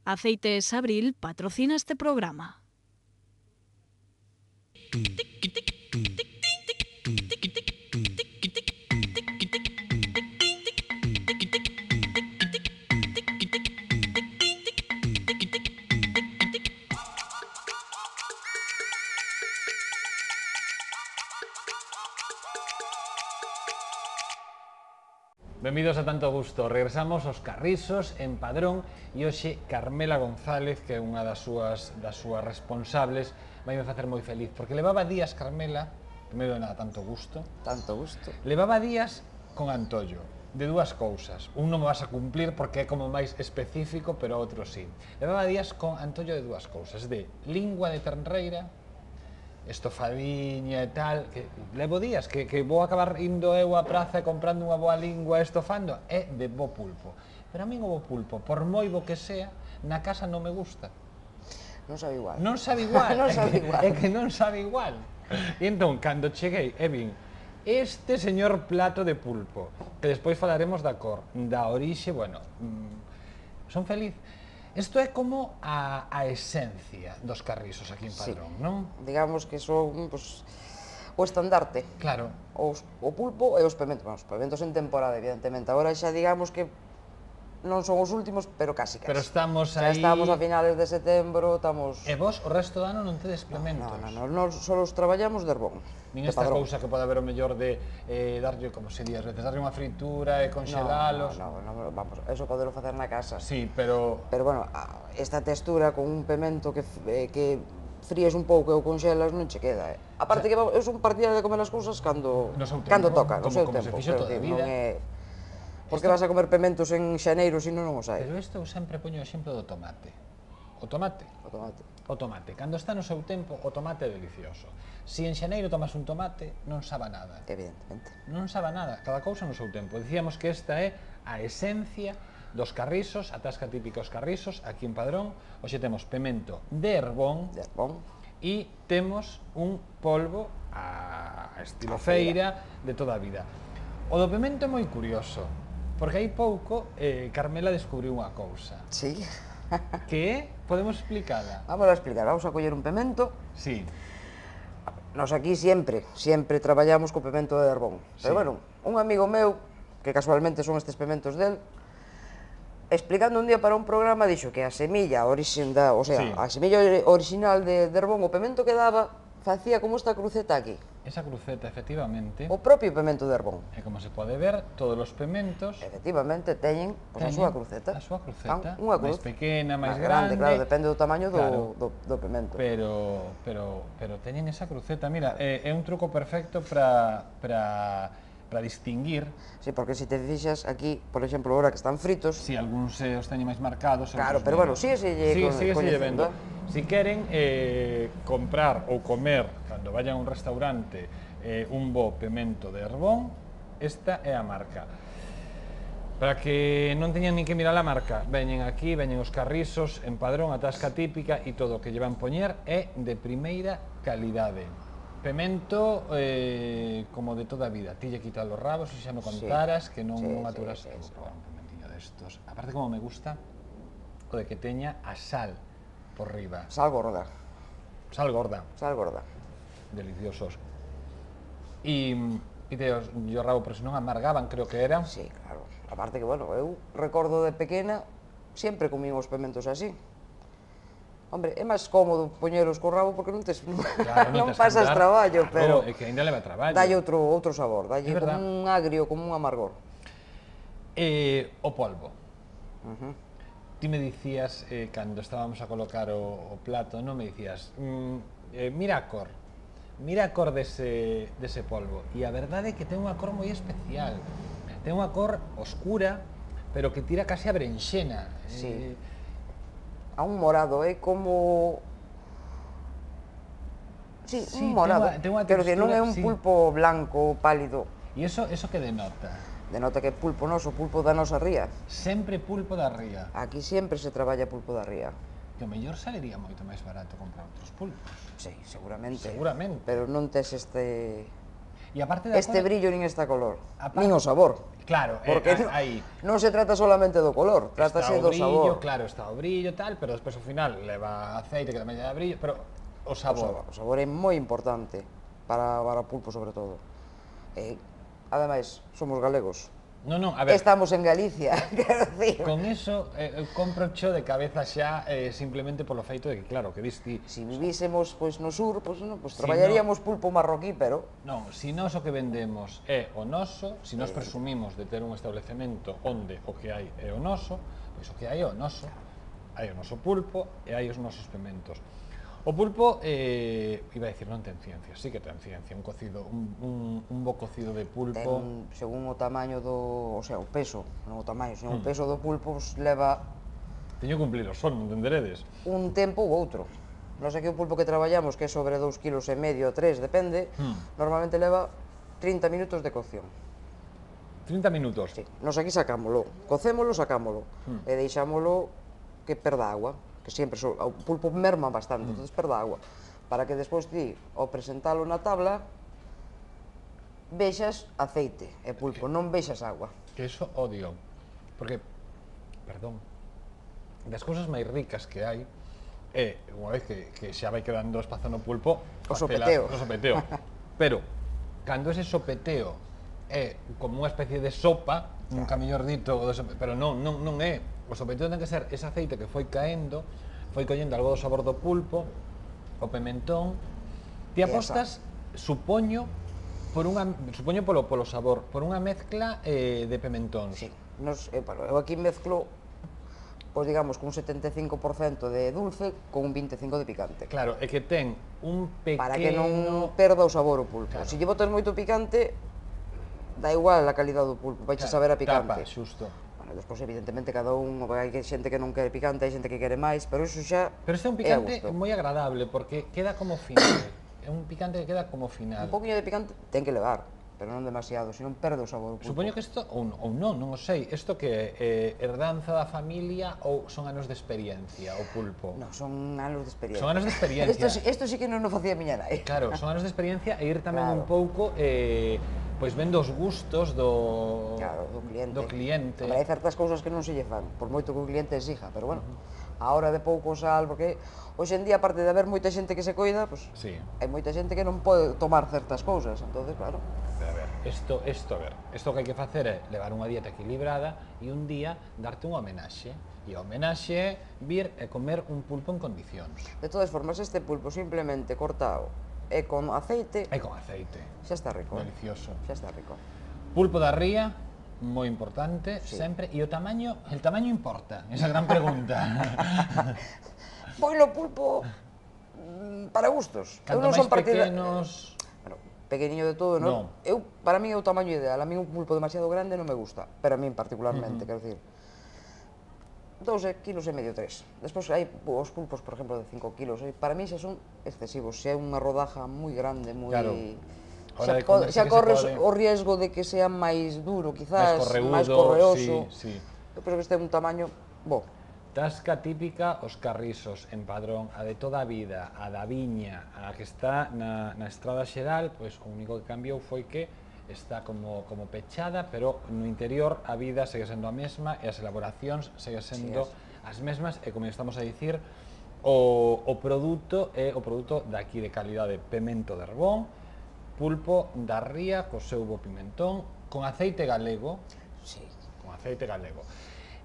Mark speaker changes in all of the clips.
Speaker 1: Aceites Abril patrocina este programa.
Speaker 2: Benvidos a Tanto Gusto. Regresamos aos Carrisos en Padrón e hoxe Carmela González, que é unha das súas responsables, vai me facer moi feliz, porque levaba días, Carmela, primeiro de nada, tanto gusto, levaba días con antollo de dúas cousas. Un non me vas a cumplir porque é como máis específico, pero outro sí. Levaba días con antollo de dúas cousas, de lingua de ternreira, estofadiña e tal, que levo días que vou acabar indo eu á praza e comprando unha boa lingua e estofando, é de bo pulpo. Pero a min o bo pulpo, por moi bo que sea, na casa non me gusta.
Speaker 3: Non sabe igual.
Speaker 2: Non sabe igual,
Speaker 3: Non sabe igual.
Speaker 2: é que non sabe igual. E entón, cando cheguei, e vin este señor plato de pulpo, que despois falaremos da cor, da orixe, bueno, son feliz. Isto é como a esencia dos carrisos aquí en Padrón, non?
Speaker 3: Digamos que son o estandarte.
Speaker 2: Claro.
Speaker 3: O pulpo e os pementos. Os pementos en temporada, evidentemente. Agora xa digamos que non son os últimos, pero casi.
Speaker 2: Pero estamos
Speaker 3: aí...
Speaker 2: Xa
Speaker 3: estamos a finales de setembro, estamos...
Speaker 2: E vos o resto do ano non tedes pementos?
Speaker 3: Non, só os traballamos de Herbón.
Speaker 2: Nin esta cousa que pode haber o mellor de darlle, como se di, as veces, darlle unha fritura e congelalos.
Speaker 3: Non, vamos, eso podelo facer na casa.
Speaker 2: Sí, pero...
Speaker 3: Pero, bueno, esta textura con un pemento que fríes un pouco e o conxelas non che queda. A parte que eu son partidaria de comer as cousas cando toca, no seu tempo.
Speaker 2: Como se fixo toda a vida.
Speaker 3: Porque vas a comer pementos en xaneiro, se non os hai.
Speaker 2: Pero isto eu sempre poño o exemplo do tomate. O tomate. O tomate. Cando está no seu tempo, o tomate é delicioso. Se en xaneiro tomas un tomate, non sabe nada.
Speaker 3: Evidentemente.
Speaker 2: Non sabe nada, cada cousa no seu tempo. Dicíamos que esta é a esencia dos carrisos, a tasca típica dos carrisos, aquí en Padrón. Hoxe temos pemento de Herbón. E temos un polvo a estilo feira de toda a vida. O do pemento é moi curioso, porque hai pouco Carmela descubriu unha cousa.
Speaker 3: Sí.
Speaker 2: Que é? Podemos explicala?
Speaker 3: Vamos a explicar, vamos a coller un pemento.
Speaker 2: Sí.
Speaker 3: Nos aquí sempre traballamos co pemento de Herbón. Pero, bueno, un amigo meu, que casualmente son estes pementos del, explicando un día para un programa, dixo que a semilla original de Herbón, o pemento que daba, facía como esta cruceta aquí.
Speaker 2: Esa cruceta, efectivamente.
Speaker 3: O propio pemento de Herbón.
Speaker 2: E como se pode ver, todos os pementos...
Speaker 3: Efectivamente, teñen a súa cruceta.
Speaker 2: A súa cruceta.
Speaker 3: Unha cruz.
Speaker 2: Máis pequena, máis grande.
Speaker 3: Claro, depende do tamaño do pemento.
Speaker 2: Pero teñen esa cruceta. Mira, é un truco perfecto para distinguir.
Speaker 3: Sí, porque se te fixas aquí, por exemplo, ahora que están fritos...
Speaker 2: Si algúns os teñen máis marcados...
Speaker 3: Claro, pero bueno, sígueselle
Speaker 2: vendo. Si queren comprar ou comer, cando vayan a un restaurante, un bo pemento de Herbón, esta é a marca. Para que non teñan nin que mirar a marca, veñen aquí, veñen os carrisos, en Padrón, a tasca típica e todo o que lle van poñer é de primeira calidade. Pemento como de toda a vida. Ti lle quitas os rabos, se xa me contaras, que non aturas. Un pementiño destos. Aparte, como me gusta, o de que teña a sal por riba.
Speaker 3: Sal gorda.
Speaker 2: Sal gorda.
Speaker 3: Sal gorda.
Speaker 2: Deliciosos. E teos o rabo, pero se non amargaban, creo que eran.
Speaker 3: Sí, claro. Aparte que, bueno, eu recordo de pequena, sempre comín os pementos así. Hombre, é máis cómodo poñeros co rabo porque non pasas traballo, pero...
Speaker 2: É que ainda leva traballo.
Speaker 3: Dalle outro sabor, dalle como un agrio, como un amargor.
Speaker 2: O polvo. Ti me dicías, cando estábamos a colocar o plato, non me dicías, mira a cor dese polvo. E a verdade é que ten unha cor moi especial. Ten unha cor oscura, pero que tira case a berenxena.
Speaker 3: Sí. A un morado, é como... Sí, un morado. Pero que non é un pulpo blanco, pálido.
Speaker 2: E iso que denota?
Speaker 3: Denota que pulpo noso, pulpo da nosa ría.
Speaker 2: Sempre pulpo da ría.
Speaker 3: Aquí sempre se traballa pulpo da ría.
Speaker 2: Que o mellor salería moito máis barato comprar outros pulpos.
Speaker 3: Sí, seguramente.
Speaker 2: Seguramente.
Speaker 3: Pero non tes este...
Speaker 2: E aparte da
Speaker 3: este
Speaker 2: cor,
Speaker 3: brillo nin esta color,
Speaker 2: Aparte-
Speaker 3: nin o sabor.
Speaker 2: claro,
Speaker 3: Porque
Speaker 2: aí
Speaker 3: non se trata solamente do color,
Speaker 2: está
Speaker 3: trátase
Speaker 2: o
Speaker 3: do
Speaker 2: brillo,
Speaker 3: sabor.
Speaker 2: claro, está o brillo tal, pero despois ao final leva aceite que tamén lle dá brillo, pero o sabor.
Speaker 3: O sabor é moi importante para o pulpo sobre todo. Ademais, somos galegos.
Speaker 2: Non, a ver,
Speaker 3: Estamos en Galicia, quero dicir.
Speaker 2: con eso compro cho de cabeza xa simplemente polo feito de que, claro, que diste...
Speaker 3: Si vivísemos pois no sur, pois non, pois
Speaker 2: Si
Speaker 3: traballaríamos pulpo marroquí, pero
Speaker 2: Non, si nós o que vendemos é o noso, si nós presumimos de ter un establecemento onde o que hai é o noso, pois o que hai é o noso. Hai o noso pulpo e hai os nosos pementos. O pulpo, iba a dicir, non ten ciencia, sí que ten ciencia. Un cocido, un bo cocido de pulpo...
Speaker 3: ten, según o tamaño do, o sea, o peso, non o tamaño, senón o peso do pulpo pues, leva
Speaker 2: Teño que cumplir o son, non entenderedes?
Speaker 3: un tempo ou outro. Nos aquí o pulpo que traballamos, que é sobre 2,5 kg, 3, depende, normalmente leva 30 minutos de cocción.
Speaker 2: 30 minutos.
Speaker 3: Sí. Nos aquí sacámolo, cocémolo, sacámolo, e deixámolo que perda agua, que sempre o pulpo merma bastante, entonces perda agua, para que despois ti, ao presentalo na tabla, vexas aceite e pulpo, non vexas agua.
Speaker 2: Que eso odio, porque, perdón, das cousas máis ricas que hai é, unha vez que xa vai quedando espazo no pulpo,
Speaker 3: O
Speaker 2: facela-
Speaker 3: sopeteo.
Speaker 2: o sopeteo. Pero, cando ese sopeteo é como unha especie de sopa, nunca mellor dito, pero non é. O sopeteo ten que ser ese aceite que foi caendo, foi collendo algo do sabor do pulpo, o pimentón. Ti apostas, supoño polo sabor, por unha mezcla de pimentóns.
Speaker 3: Sí. Eu aquí mezclo, pois digamos, con un 75% de dulce con un 25% de picante.
Speaker 2: Claro, é que ten un pequeno...
Speaker 3: Para que non perda o sabor o pulpo.
Speaker 2: Claro.
Speaker 3: Se lle botas moito picante, dá igual a calidad do pulpo, vai saber a picante.
Speaker 2: Tapa, xusto.
Speaker 3: Bueno, despois, evidentemente, cada un, hai xente que non quere picante, hai xente que quere máis, pero iso xa
Speaker 2: Pero este é un
Speaker 3: a
Speaker 2: picante
Speaker 3: gusto.
Speaker 2: moi agradable, porque queda como final. É un picante que queda como final.
Speaker 3: Un poquinho de picante ten que levar, pero non demasiado, senón perde o sabor o pulpo.
Speaker 2: Supoño que isto, ou non o sei, isto que é herdanza da familia ou son anos de experiencia, o pulpo?
Speaker 3: Non, son anos de experiencia.
Speaker 2: Son anos de experiencia.
Speaker 3: Isto sí que non o facía miña nai.
Speaker 2: Claro, son anos de experiencia e ir tamén
Speaker 3: Claro.
Speaker 2: un pouco pois vendo os gustos do
Speaker 3: Claro,
Speaker 2: do cliente.
Speaker 3: Hombre, hai certas cousas que non se lle fan, por moito que o cliente exija, pero bueno, a hora de pouco sal, porque hoxe en día, aparte de haber moita xente que se coida, pues,
Speaker 2: Sí.
Speaker 3: hai moita xente que non pode tomar certas cousas, entonces, claro,
Speaker 2: A ver, isto que hai que facer é levar unha dieta equilibrada e un día darte unha homenaxe. E a homenaxe é vir e comer un pulpo en condicións.
Speaker 3: de todas formas, este pulpo simplemente cortado e con aceite,
Speaker 2: E con aceite.
Speaker 3: xa está rico.
Speaker 2: Delicioso.
Speaker 3: Xa está rico.
Speaker 2: Pulpo da ría, moi importante, sempre. E o tamaño importa, esa gran pregunta.
Speaker 3: Pois o pulpo, para gustos. Eu
Speaker 2: Canto
Speaker 3: non
Speaker 2: máis
Speaker 3: son partida...
Speaker 2: pequenos...
Speaker 3: Bueno, pequeniño de todo, non? Para mí é o tamaño ideal. A mí un pulpo demasiado grande non me gusta, pero a mí particularmente, quero dicir, 2,5 kg, 3. Despois hai os pulpos, por exemplo, de 5 kilos. Para mí xa son excesivos. Se é unha rodaja moi grande, moi...
Speaker 2: Claro. Hora de comer, sí
Speaker 3: xa
Speaker 2: que se
Speaker 3: corres
Speaker 2: pode.
Speaker 3: o riesgo de que sea máis duro, quizás,
Speaker 2: Máis
Speaker 3: máis
Speaker 2: correúdo,
Speaker 3: correoso.
Speaker 2: sí.
Speaker 3: Eu penso que este é un tamaño bo.
Speaker 2: Tasca típica, os carrisos en Padrón, a de toda a vida, a da viña, a que está na estrada xeral, pois o único que cambiou foi que está como pechada, pero no interior a vida segue sendo a mesma e as elaboracións segue sendo as mesmas e, como estamos a dicir, o produto é o produto daqui de calidade, pemento de Arbón, pulpo da ría co seu bo pimentón, con aceite galego,
Speaker 3: Sí.
Speaker 2: con aceite galego.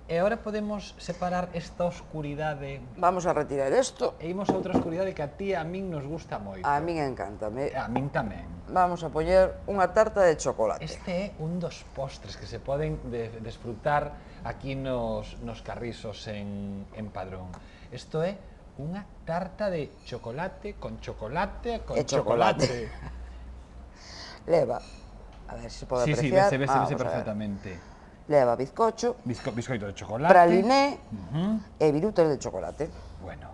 Speaker 2: E agora podemos separar esta oscuridade
Speaker 3: Vamos a retirar isto.
Speaker 2: e imos a outra oscuridade que a ti e a min nos gusta moito.
Speaker 3: A min encántame.
Speaker 2: E a min tamén.
Speaker 3: Vamos a poñer unha tarta de chocolate.
Speaker 2: Este é un dos postres que se poden desfrutar aquí nos carrisos en Padrón. Isto é unha tarta de chocolate con chocolate con
Speaker 3: E chocolate. Leva, a ver se pode
Speaker 2: Sí,
Speaker 3: apreciar.
Speaker 2: vese
Speaker 3: Vamos a ver.
Speaker 2: perfectamente.
Speaker 3: Leva bizcocho,
Speaker 2: Biscoito de chocolate.
Speaker 3: praliné e virutas de chocolate.
Speaker 2: Bueno,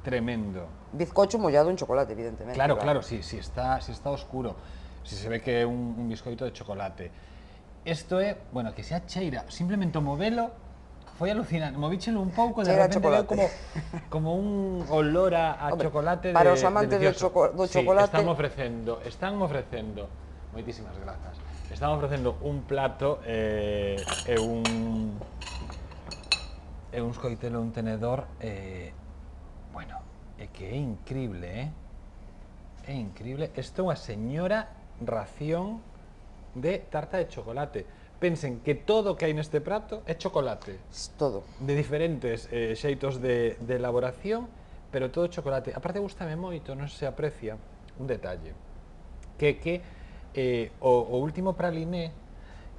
Speaker 2: tremendo.
Speaker 3: Bizcocho mollado en chocolate, evidentemente.
Speaker 2: Claro, si está oscuro, si se ve que é un biscoito de chocolate. Isto é, bueno, que sea cheira, simplemente o modelo foi alucinante, movíchelo un pouco, de
Speaker 3: Cheira a
Speaker 2: repente veo
Speaker 3: chocolate.
Speaker 2: como un olor a
Speaker 3: Hombre,
Speaker 2: chocolate
Speaker 3: para os amantes do
Speaker 2: delicioso.
Speaker 3: chocolate-
Speaker 2: Sí, están ofrecendo Moitísimas grazas. Estamos ofrecendo un plato e uns coitelo, un tenedor, bueno, é que é incrible, é incrible. Isto é unha señora ración de tarta de chocolate. Pensen que todo o que hai neste prato é chocolate.
Speaker 3: Es todo.
Speaker 2: De diferentes xeitos de elaboración, pero todo chocolate. Aparte, gustame moito, non se aprecia un detalle, que o último praliné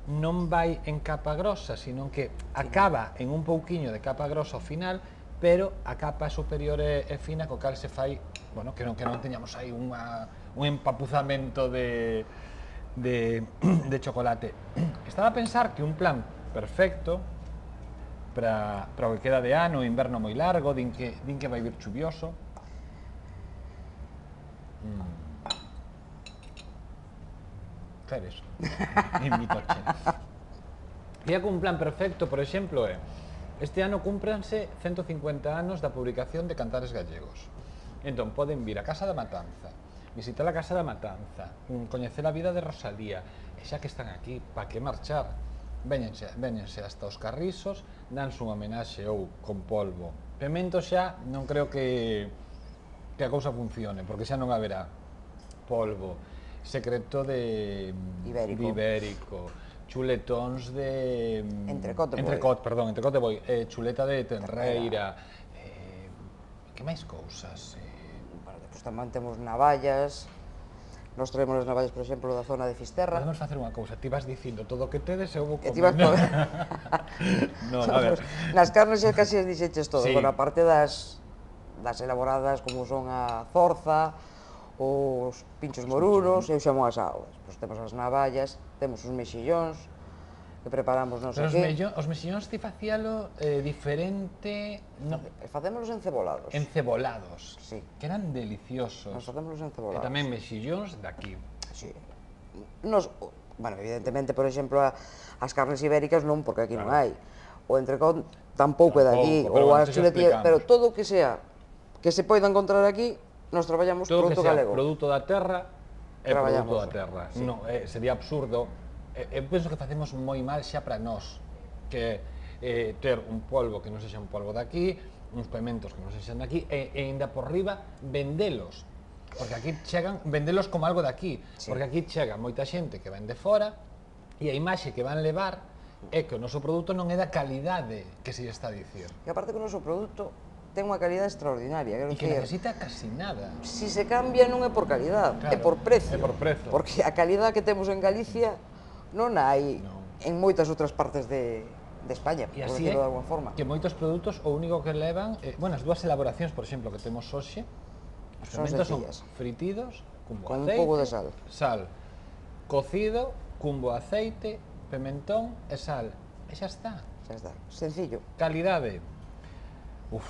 Speaker 2: non vai en capa grosa, sino que acaba en un pouquiño de capa grosa ao final, pero a capa superior é fina, co cal se fai, bueno, que non teñamos aí un empapuzamento de chocolate. Estaba a pensar que un plan perfecto para o que queda de ano, inverno moi largo, din que vai vir chuvioso. Queres? Invito a che. Día que un plan perfecto, por exemplo, é este ano cúmpranse 150 anos da publicación de Cantares Gallegos. Entón, poden vir a Casa da Matanza, visitar a Casa da Matanza, coñecer a vida de Rosalía, e xa que están aquí, pa que marchar? Véñense hasta os Carrisos, danse unha homenaxe ou con polvo. Pemento xa non creo que a cousa funcione, porque xa non haberá polvo. Secreto de ibérico, chuletóns de entrecot de boi, chuleta de tenreira, que máis cousas?
Speaker 3: Despois tamén temos navallas. Nos traemos as navallas, por exemplo, da zona de Fisterra.
Speaker 2: Podemos facer unha cousa, ti vas dicindo todo o que tedes e eu vou comer.
Speaker 3: E ti vas comer.
Speaker 2: No, a ver.
Speaker 3: Nas carnes xa casi as dixeches todo,
Speaker 2: Sí.
Speaker 3: bueno, aparte das elaboradas como son a zorza, os pinchos morunos e o xamón asado. Pois temos as navallas, temos os mexillóns que preparamos non sei que.
Speaker 2: Os mexillóns ti facíalo diferente,
Speaker 3: Facémolos encebolados.
Speaker 2: Encebolados,
Speaker 3: Sí.
Speaker 2: que eran deliciosos.
Speaker 3: Nos facémolos
Speaker 2: E
Speaker 3: encebolados.
Speaker 2: tamén mexillóns daqui.
Speaker 3: Sí. Bueno, evidentemente, por exemplo, as carnes ibéricas non, porque aquí non hai. O entrecot tampouco é de aquí,
Speaker 2: Tampouco, pero
Speaker 3: ou
Speaker 2: bueno,
Speaker 3: as
Speaker 2: xa
Speaker 3: chuletillas,
Speaker 2: explicamos.
Speaker 3: pero todo o que sea que se poida encontrar aquí, nos traballamos
Speaker 2: Todo que
Speaker 3: produto
Speaker 2: sea
Speaker 3: galego.
Speaker 2: produto da terra é
Speaker 3: Traballamos.
Speaker 2: produto da terra.
Speaker 3: Sí.
Speaker 2: Non, sería absurdo. Eu penso que facemos moi mal xa para nós, que ter un polvo que non sexa un polvo daqui, uns pementos que non sexan daqui, e ainda por riba vendelos. Porque aquí chegan, vendelos como algo daqui,
Speaker 3: Sí.
Speaker 2: porque aquí chega moita xente que ven de fora, e a imaxe que van levar é que o noso produto non é da calidade que se está a dicir.
Speaker 3: E aparte que o noso produto ten unha calidade extraordinaria, quero
Speaker 2: E que
Speaker 3: dicir,
Speaker 2: necesita casi nada.
Speaker 3: si se cambia non é por calidad,
Speaker 2: Claro,
Speaker 3: é por precio.
Speaker 2: é por prezo.
Speaker 3: Porque a calidad que temos en Galicia non hai
Speaker 2: Non.
Speaker 3: en moitas outras partes de España,
Speaker 2: E
Speaker 3: por
Speaker 2: así
Speaker 3: decirlo
Speaker 2: é
Speaker 3: de alguma forma.
Speaker 2: que moitos produtos o único que levan, bueno, as dúas elaboracións, por exemplo, que temos hoxe, os
Speaker 3: Son
Speaker 2: fermentos son
Speaker 3: sencillas.
Speaker 2: fritidos, cumbo
Speaker 3: Con un
Speaker 2: aceite,
Speaker 3: pouco de sal.
Speaker 2: cocido, cumbo aceite, pimentón e sal. E xa está.
Speaker 3: Xa está, sencillo.
Speaker 2: Calidade. Uf.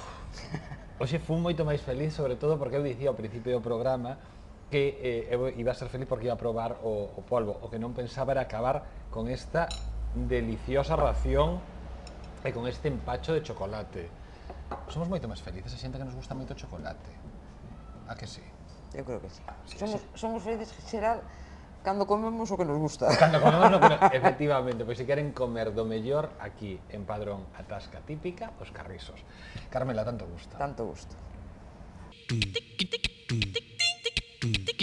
Speaker 2: Hoxe fui moito máis feliz, sobre todo porque eu dicía ao principio do programa que eu iba a ser feliz porque iba a probar o polvo. O que non pensaba era acabar con esta deliciosa ración e con este empacho de chocolate. Somos moito máis felices, a xente que nos gusta moito o chocolate. A que sí?
Speaker 3: Eu creo que sí.
Speaker 2: Sí,
Speaker 3: Somos felices en xeral cando comemos o que nos gusta.
Speaker 2: Cando comemos no que efectivamente, pois se queren comer do mellor aquí en Padrón, a tasca típica, os Carrisos. Carmela, tanto gusto.
Speaker 3: Tanto gusto.
Speaker 1: Tic, tic, tic, tic, tic, tic, tic.